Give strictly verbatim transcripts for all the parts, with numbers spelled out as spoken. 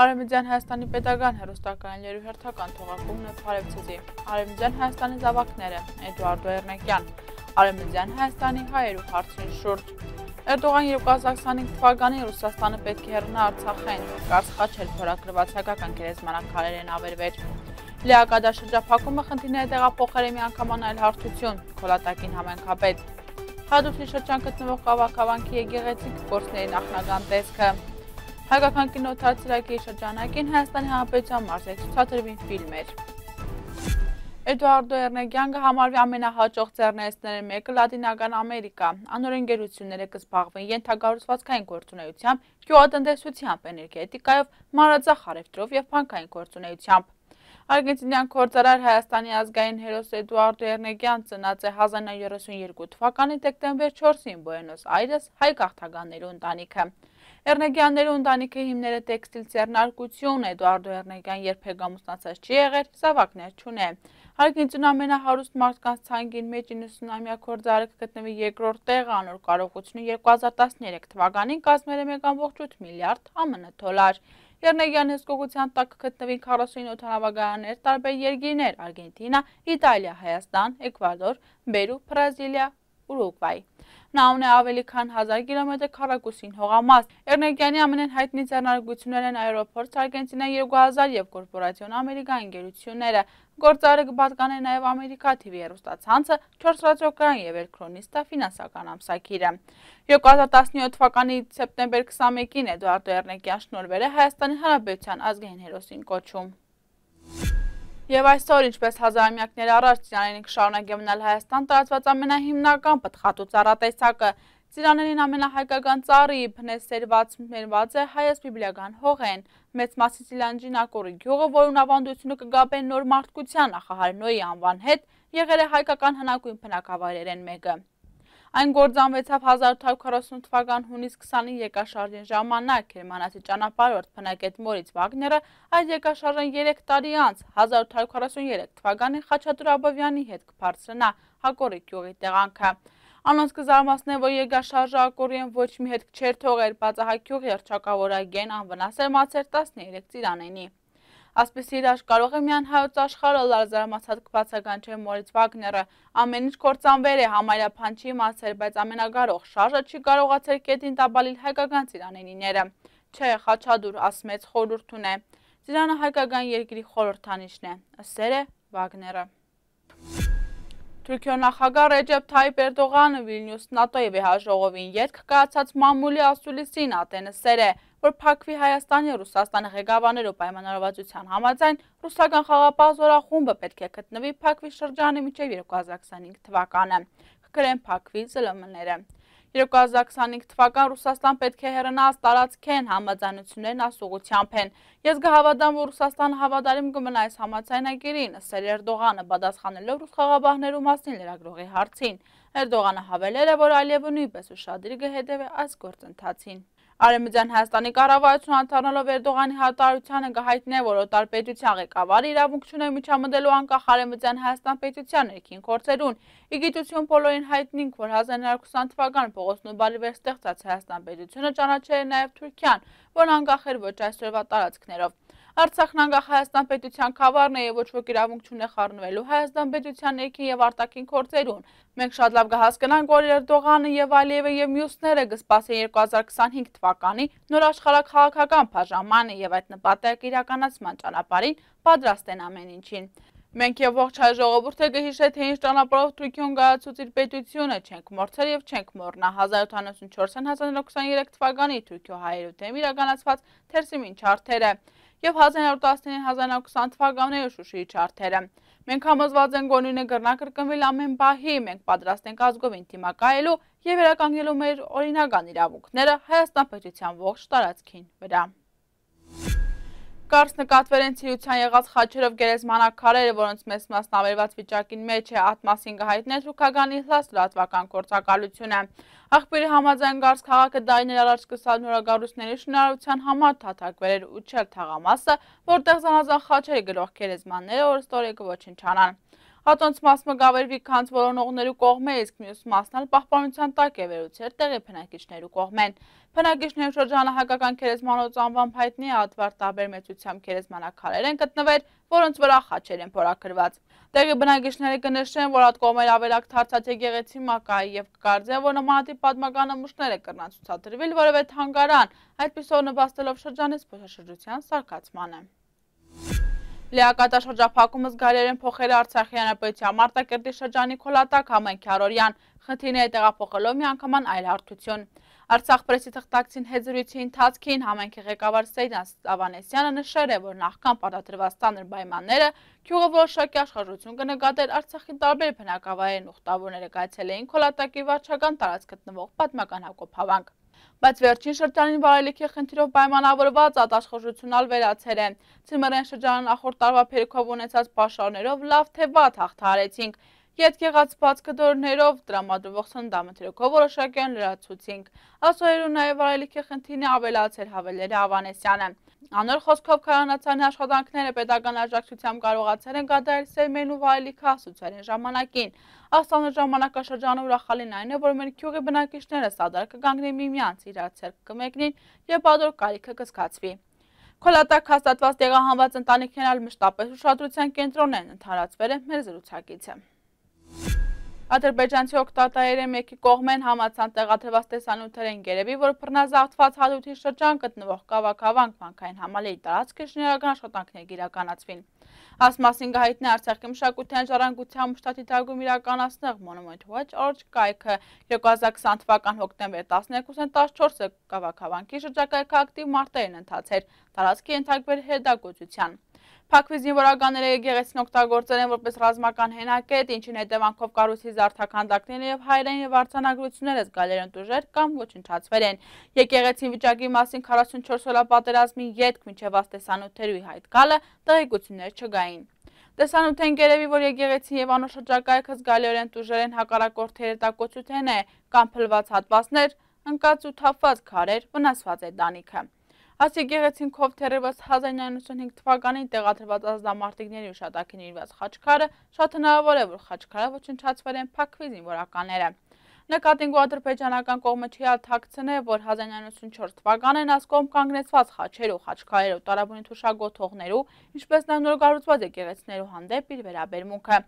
Արևմտյան Հայաստանի պետական հեռուստակայանների հերթական թողարկումն է Փարեվցեզի, Արևմտյան Հայաստանի զավակները, Էդուարդո Էռնեկյան, Արևմտյան Հայաստանի հայերու հարցին շուրջ։ Էրդողան երկու հազար քսանհինգ թվականին Ռուսաստանը պետք է հեռանա Արցախեն, Կարս Խաչել փորագրված հայկական գերեզմանակարեր են ավերվեր։ Լիակադա շրջափակումը խնդիրները տեղափոխել է միանգամայն այլ հարթություն, Քոլատակին համայնքապետ։ Հադրութի շրջան գտնվող Կավակավանքի եկեղեցիկ գործների նախնական տեսքը։ Հայկական կինոթատրոնի շրջանակին Հայաստանի Հանրապետության մարզեցուցադրվին ֆիլմեր։ Էդուարդո Էռնեկյանը համարվի ամենահաջող ձեռներեցներից մեկը Լատինական Ամերիկա, անօրեն գերությունները կզբաղվեն ենթակառուցվածքային գործունեությամբ, գյուղատնտեսությամբ, էներգետիկայով, մանրածախ առևտրով և բանկային գործունեությամբ։ Արգենտինյան գործարար Հայաստանի ազգային հերոս Էդուարդո Էռնեկյան ծնած է հազար նույնսուն երեսունյերկու թվականի դեկտեմբեր չորսին Բուենոս Այրես հայ գաղթականների ընտանիքը։ Էռնեկյանների ընտանիքի հիմները տեքստիլ ձեռնարկություն, Էդուարդո Էռնեկյան երբեք ամուսնացած չի եղել, զավակներ չունի։ Արգենտինայում ամենահարուստ մարդկանց ցանկին մեջ իննսունամյա գործարարը կգտնվի երկրորդ տեղը, անոր կարողությունը երկու հազար տասներեք թվականին կազմել է մեկ կόμma ութ միլիարդ ԱՄՆ դոլար։ Էռնեկյանի հսկողության տակ կգտնվին քառասունինը օդանավակայաններ, տարբեր երկիրներ՝ Արգենտինա, Իտալիա, Հայաստան, Էկվադոր, Պերու, Բրազիլիա, Ուրուգվայ։ Նա ունի ավելի քան հազար կիլոմետր քառակուսին հողամաս։ Էռնեկյանի ամենահայտնի ձեռնարկություններն են Aeroports Argentina երկու հազար և Կորպորացիոն Ամերիկա ընկերությունները։ Գործարարը կպատկանե նաև Ամերիկա թի վի հեռուստացանցը, չորս ռադիոկայան և Էլքրոնիստա ֆինանսական ամսագիրը։ երկու հազար տասնյոթ թվականի սեպտեմբեր քսանմեկին Էդուարդո Էռնեկյան շնորհվել է Հայաստանի Հանրապետության ազգային հերոսին կոչում։ Եվ այսօր, ինչպես հազարամյակներ առաջ, ծիրաներին կշարունակի մնալ Հայաստան տարածված ամենահիմնական պտղատու ծառատեսակը։ Ծիրաներին ամենահայկական ծառը իբնես սերված մերված է հայոց բիբլիական հողեն։ Մեծ մասի Սիլանջին ակորի գյուղը, որուն ավանդությունը կգաբեն նոր մարդկության նախահար Նոյի անվան հետ, եղել է հայկական հնագույն բնակավայրերեն մեկը։ Այն գործանվեցավ հազար ութ հարյուր քառասուն թվական հունիս քսանին երկաշարժին ժամանակ, գերմանացի ճանապարհորդ բնակետ Մորից Վագները այդ երկաշարժին երեք տարի անց հազար ութ հարյուր քառասունյերեք թվականին Խաչատուր Աբովյանի հետ կբարձրանա Ակորի գյուղի տեղանքը։ Անոնց կզարմացնե, որ երկաշարժը Ակորիեն ոչ մի հետք չէր թողել, բացահայտ գյուղի հռչակավորագեն անվնաս էր մացել տասներեք ծիրանենի։ Ասպիսի իրար կարող է միայն հայոց աշխարհը լարզարմացած կբացականչել Մորից Վագները, ամեն ինչ կործանվել է, համարյա բան չի մացել, բայց ամենագարող շարժը չի կարողացել կետին տաբալիլ հայկական ծիրանենիները։ Չէ, Խաչատուր ասմեց խորհուրդ ունե։ Ծիրանը հայկական երկրի խորհրդանիշն է, ըսեր է Վագները։ Թուրքիո նախագահ Ռեջեփ Թայիփ Էրդողանը Վիլնյուս նատոյի վեհաժողովին ետք կայացած մամուլի ասուլիսին ատենսեր է, որ փակվի Հայաստանի և Ռուսաստանի ղեկավարներու պայմանավորվածության համաձայն ռուսական խաղապահ զորախումբը պետք է գտնվի փակվի շրջանի մինչև երկու հազար քսանհինգ թվականը։ Կգրեն փակվի զլ մ ները։ երկու հազար քսանհինգ թվական Ռուսաստան պետք է հեռանա տարածքեն համաձայնություններն ասուղությամբ են։ Ես կհավատամ, որ Ռուսաստանը հավատարիմ կմնա այս համաձայնագիրին, ըսել Էրդողանը պատասխանելով ռուս խաղապահներու մասին լրագրողի հարցին։ Էրդողանը հավելել է, որ այլևս նույնպես ուշադիր կհետևի այս գործընթացին։ Արևմտյան Հայաստանի կառավարությունը անդառնալով Էրդողանի հայտարարությանը կհայտնի, որ օտար պետության ղեկավարը իրավունք չունի միջամտելու անկախ Արևմտյան Հայաստան պետության ներքին գործերուն։ Ի գիտություն բոլորին հայտնինք, որ հազար նոյ հարյուր ութ թվականին Պողոս Նուբարի վեր ստեղծած Հայաստան պետությունը ճանաչել է նաև Թուրքիան, որն անկախ էր ոչ այսօրվա տարածքներով։ Արցախն անկախ Հայաստան պետության քավառն է և ոչ ոք իրավունք չունի խառնվելու Հայաստան պետության ներքին և արտաքին գործերուն։ Մենք շատ լավ կհասկանանք, որ Էրդողանը և Ալիևը և մյուսները կսպասեն երկու հազար քսանհինգ թվականի նոր աշխարհաքաղաքական բաժանմանը և այդ նպատակի իրականացման ճանապարհին պատրաստ են ամեն ինչին։ Մենք և ողջ հայ ժողովուրդը կհիշե, թե ինչ ճանապարհով Թուրքիոն կայացուց իր պետությունը, չենք մոռացել և չենք մոռնա հազար ութ հարյուր ութանասունչորսին հազար նոյ հարյուր քսաներեք թվականի Թուրքիո հայերու դեմ իրականացված Թերսիմին չարթերը և հազար նոյ հարյուր տասնինը հազար նոյ հարյուր քսան թվականների Շուշիի չարթերը։ Մենք համոզված ենք, որ նույնը կրնա կրկնվել ամեն պահի, մենք պատրաստ ենք ազգովին դիմակայելու և վերականգնելու մեր օրինական իրավունքները Հայաստան պետության ողջ տարածքին վրա։ Կարս նկատվել են ցիրության եղած խաչերով գերեզմանակարերը, որոնց մեծ մասն ավերված վիճակին մեջ է, այդ մասին կհայտնել թուրքական Իհլաս լրատվական գործակալությունը։ Աղբյուրի համաձայն Կարս քաղաքը տարիներ առաջ սկսած նորագառույցների շինարարության համար թաթակվել էր Ուչել թաղամասը, որտեղ զանազան խաչերի գրող գերեզմանները օրստորեգը ոչնչանան։ Ատոնց մասը գավերվի քանց որոնողներու կողմէ, իսկ մյուս մասն ալ պահպանության տակ է վերուցեր տեղի բնակիչներու կողմեն։ Բնակիչներու շրջանը հայկական քերեզմանոց անվամբ հայտնի է ադվար տարբեր մեծությամբ քերեզմանակարեր են գտնվեր, որոնց վրա խաչեր են փորագրված։ Տեղի բնակիչները կնշեն, որ այդ կողմեր ավելակ դարձած եկեղեցի մակայի եւ կկարծեն, որ նմանատիպ պատմական նմուշներ է կրնան ցուցադրվել որևէ թանգարան, այդպիսով նպաստելով շրջանի զբոսաշրջության զարգացմանը։ Լիակատար շրջափակումը զգալիորեն փոխել է Արցախի հանրապետության Մարտակերտի շրջանի Քոլատակ համայնքի առօրյան, խնդիրները տեղափոխելով միանգամայն այլ հարթություն։ Արցախ պրեսի թղթակցին հետ զրույցի ընթացքին համայնքի ղեկավար Սեյդան Ավանեսյանը նշել է, որ նախքան պարտադրված ծանր պայմանները գյուղը որոշակի աշխարհություն կնկատեր Արցախի տարբեր բնակավայրերն ուխտավորները կայացել էին Քոլատակի վարչական տարածք գտնվող պատմական Հակոբ հավանք։ Բայց վերջին շրջանին վարելիքի խնդիրով պայմանավորված ատաշխորժությունալ վերացել է։ Ցիմերեն շրջանը նախորդ տարվա փերիքով ունեցած պաշարներով լավ թե վատ հաղթահարեցինք։ Ետ եղած բաց կդորներով տրամադրվող սննդամթերքով որոշակիորեն լրացուցինք։ Ասոյերու նաև վարելիքի խնդիրն ավելացել հավելել է Ավանեսյանը։ Անոր խոսքով քարանացանի աշխատանքները պետական աջակցությամբ կարողացել են կատարել սերմերն ու վարելիքը հասուցարին ժամանակին։ Աստանր ժամանակաշրջանը ուրախալին այն է, որ մեր գյուղի բնակիչները սադար կգանգնեն միմյանց իրար ցերկ կմեկնին եւ բادر կարիքը կզգացվի։ Քոլատակ հաստատված տեղահանված ընտանիքներն ալ մշտապես ուշադրության կենտրոն են ընդհանրացվել է մեր զրուցակիցը։ Ադրբեջանցի օկտատայերը մեկի կողմեն համացան տեղադրված տեսանյութերեն գերեւի, որ բռնազավթված հադութի շրջան գտնվող Կավակավանք վանքային համալիրի տարածքը շինարարական աշխատանքներ իրականացվին։ Այս մասին գահիտնի Արցախի մշակութային ժառանգության մշտադիտարկում իրականացնող Monument Watch Org կայքը երկու հազար քսան թվական հոկտեմբեր տասներկուսին տասնչորսը Կավակավանքի շրջակայքը ակտիվ մարտերն ընթացեր, տարածքը ենթարկվել հետագործության։ Փակվի զինվորականները եկեղեցին օգտագործել են որպես ռազմական հենակետ, ինչին հետևանքով կառույցի զարդաքանդակները եւ հայերեն եւ արձանագրությունները զգալիորեն տուժեր կամ ոչնչացվել են։ Եկեղեցին վիճակի մասին քառասունչորս օրյա պատերազմի ետք մինչեւ աստեսանութերուի հայտ գալը տեղեկություններ չկային։ Տեսանյութեն գերեւի, որ եկեղեցին եւ անոր շրջակայքը զգալիորեն տուժեր են հակառակորդի երիտակոծութեն է կամ փլված հատվածներ, ընկած ու թափված քարեր, վնասված է տանիքը։ Այս եկեղեցինքով թերևս հազար իննսուն ութ թվականին տեղադրված ազդամարտիկների ուշադակին իրված խաչքարը շատ հնարավոր է, որ խաչքարը ոչնչացվել են փակվի զինվորականները։ Նկատինք ադրբեջանական կողմը չի ալթակցնել, որ հազար իննսուն չորս թվականին այս կողմ կանգնեցված խաչերու, խաչքարերու, տարաբունի թուշագոթողներու, ինչպես նաև նորգառուցված եկեղեցիներու հանդեպ իր վերաբերմունքը։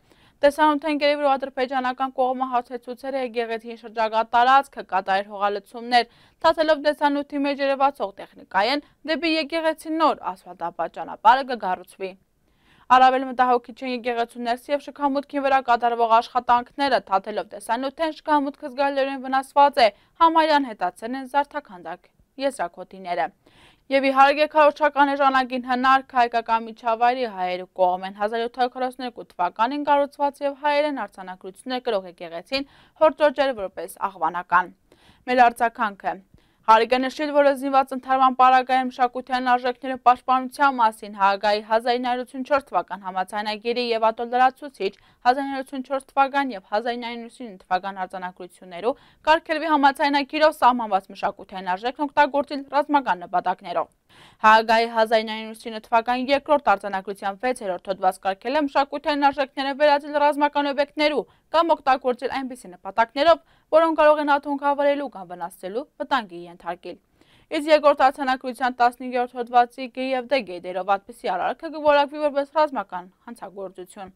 Տեսանյութեն գերեւի, որ ադրբեջանական կողմը հացեցուցել է եկեղեցին շրջակա տարածքը, կատարել հողալցումներ, ցածելով տեսանյութի մեջ երևացող տեխնիկայեն դեպի եկեղեցին նոր ասֆալտապատ ճանապարհը կգառուցվի։ Առավել մտահոգիչ են եկեղեցու ներսի եւ շքամուտքի վրա կատարվող աշխատանքները, թաթելով տեսանյութեն շքամուտքը զգալիորեն վնասված է, համարյան հետացել են զարդաքանդակ եզրակոտիները։ Եվ իհարկե քարոզչական ժամանակին հնարք հայկական միջավայրի հայերու կողմեն հազար յոթ հարյուր քառասունյոթ թվականին կառուցված եւ հայերեն արձանագրություններ կրող եկեղեցին հորդորջել որպես աղվանական։ Մեր արձագանքը Հարկ է նշել, որ զինված ընդհարման պարագայում մշակութային արժեքների պաշտպանության մասին Հաագայի հազար իննսուն ութ թվական համաձայնագիրի եւ ատոլլարացուցիչ հազար իննսուն ութ թվական եւ հազար իննսուն իննսուն թվական արձանագրություններով կարգելվի համաձայնագիրով սահմանված մշակութային արժեքն օգտագործել ռազմական նպատակներով։ Հաագայի հազար իննսուն ութ թվական երկրորդ արձանագրության վեցերորդ հոդված կարգել է մշակութային արժեքները վերածել ռազմական օբյեկտներու կամ օգտագործել այնպիսի նպատակներով, որոնք կարող են աթոմքավորելու կամ վնասելու վտանգի ենթարկել։ Իսկ երկրորդ արձանագրության տասնհինգերորդ հոդվածի G եւ D գեդերով այդպիսի արարքը կորակվի որպես ռազմական հանցագործություն։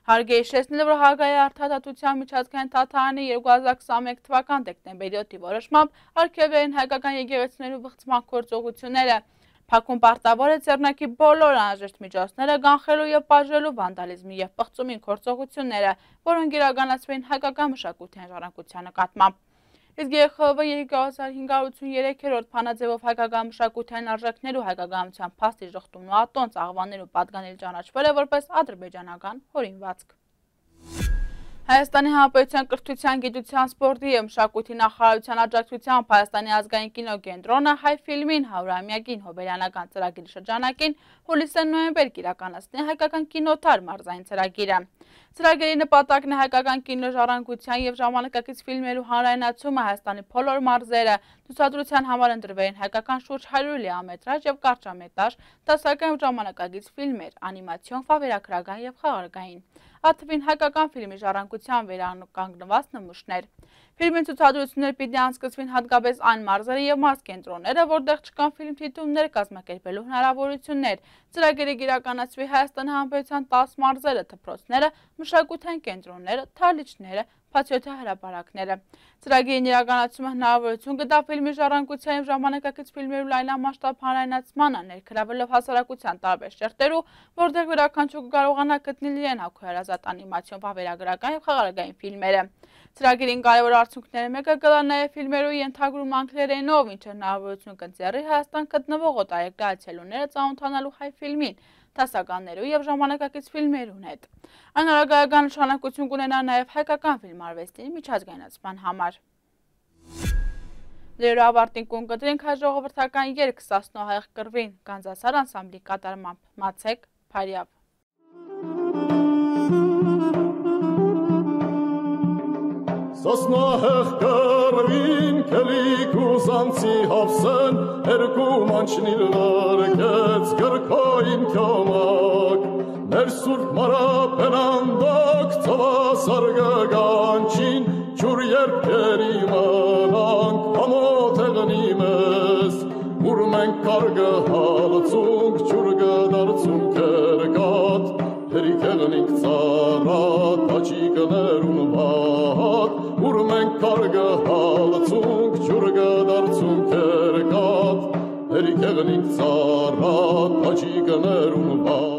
Հարկ է հիշեցնել, որ Հաագայի արդարադատության միջազգային թատրոնի երկու հազար քսաներկու թվական դեկտեմբերի յոթի որոշմամբ արգելվել են հայկական եկեղեցիներու բղծման գործողությունները։ Փակում պարտավոր է ձեռնարկի բոլոր անհրաժեշտ միջոցները կանխելու եւ բաժելու վանդալիզմի եւ պղծումի գործողությունները, որոնք իրականացվեն հայկական մշակութային ժառանգության նկատմամբ։ Իսկ Ե Խ V երկու հազար հինգ հարյուր ութսուներեքերորդ փանաձևով հայկական մշակութային արժեքներու հայկականության փաստի ժխտումն ու ատոնց աղվաներու պատկանել ճանաչվել է որպես ադրբեջանական հորինվածք։ Հայաստանի Հանրապետության կրթության, գիտության, սպորտի եւ մշակույթի նախարարության աջակցությամբ Հայաստանի ազգային կինոկենտրոնը հայ ֆիլմին հարյուրամյակին հոբելյանական ծրագրի շրջանակին հուլիսին նոյեմբեր կիրականացնի հայկական կինոթար մարզային ծրագիրը։ Ծրագրի նպատակն է հայկական կինոժառանգության եւ ժամանակակից ֆիլմերու հանրայնացումը Հայաստանի բոլոր մարզերը, Ցուցադրության համար ընտրվել են հայկական շուրջ հարյուր լիամետրաժ եւ կարճամետրաժ, դասական ժամանակակից ֆիլմեր, անիմացիոն, վավերագրական եւ խաղարկային։ Աթվին հայկական ֆիլմի ժառանգության վերականգնված նմուշներ։ Ֆիլմի ցուցադրությունները պիտի անցկացվին հատկապես այն մարզերը եւ մարզկենտրոնները, որտեղ չկան ֆիլմ թիթուններ կազմակերպելու հնարավորություններ։ Ծրագիրը կիրականացվի Հայաստանի Հանրապետության տաս մարզերը, դպրոցները, մշակութային կենտրոնները, թալիչները, փաթեթի հրապարակները։ Ծրագիրի իրականացումը հնարավորություն կտա ֆիլմի ժառանգության եւ ժամանակակից ֆիլմերի լայնամասշտաբ հանրայնացմանը, ներգրավելով հասարակության տարբեր շերտերու, որտեղ յուրաքանչյուրը կարողանա գտնել իրեն հոգեհարազատ անիմացիոն, վավերագրական եւ խաղարկային ֆիլմերը։ Ծրագիրին կարևոր արդյունքները մեկը կլա նաև ֆիլմերու ենթագրում անգլերենով, ինչը հնարավորություն կընձեռի Հայաստան գտնվող օտարերկրացիելուները ծանոթանալու հայ ֆիլմին, դասականներու եւ ժամանակակից ֆիլմերուն հետ։ Այն արագայական նշանակություն կունենա նաև հայկական ֆիլմարվեստի միջազգայնացման համար։ Լերո ավարտին կուն կտրենք հայ ժողովրդական երգ Սասնոհայեղ կռվին Գանձասար անսամբլի կատարմամբ Մացեք Փարյավ։ Սասնահեղ կռվին կելիք ուզանցի հավսեն, երկու մանչնիլ վարկեց գրքային կյամակ, մեր սուրբ մարապենանդակ ծավասար գգանչին, ջուր երբերի մնանք, համոտ էղնի մեզ, ուր մենք կարգը հալցունք, ջուր գդարցունք երգատ, հերիք էղնինք ծարատ, աչիկներուն վատ, ուր մենք կարգը հալցունք, ջուր գդարցունք երգատ, հերիք էղնինք ծարատ, աչիկներուն վատ,